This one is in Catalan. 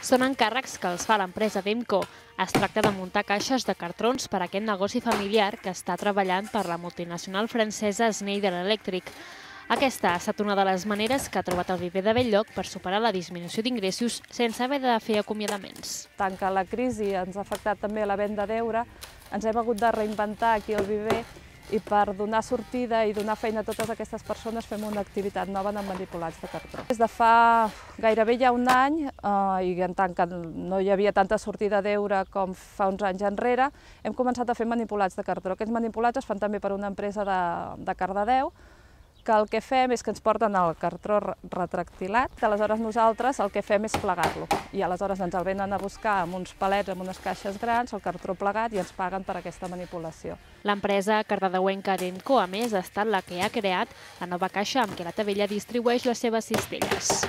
Són encàrrecs que els fa l'empresa Demco. Es tracta de muntar caixes de cartrons per a aquest negoci familiar que està treballant per la multinacional francesa Schneider Electric. Aquesta ha estat una de les maneres que ha trobat el Viver de Bell-lloc per superar la disminució d'ingressos sense haver de fer acomiadaments. Tant que la crisi ens ha afectat també a la venda d'eure, ens hem hagut de reinventar aquí al Viver i per donar sortida i donar feina a totes aquestes persones fem una activitat nova de manipulats de cartró. Des de fa gairebé ja un any, i en tant que no hi havia tanta sortida d'eure com fa uns anys enrere, hem començat a fer manipulats de cartró. Aquests manipulats es fan també per una empresa de Cardedeu, que el que fem és que ens porten el cartró retractilat, aleshores nosaltres el que fem és plegar-lo. I aleshores ens el venen a buscar amb uns palets, amb unes caixes grans, el cartró plegat, i ens paguen per aquesta manipulació. L'empresa cardedeuenca Demco, a més, ha estat la que ha creat la nova caixa amb què la Tavella distribueix les seves cistelles.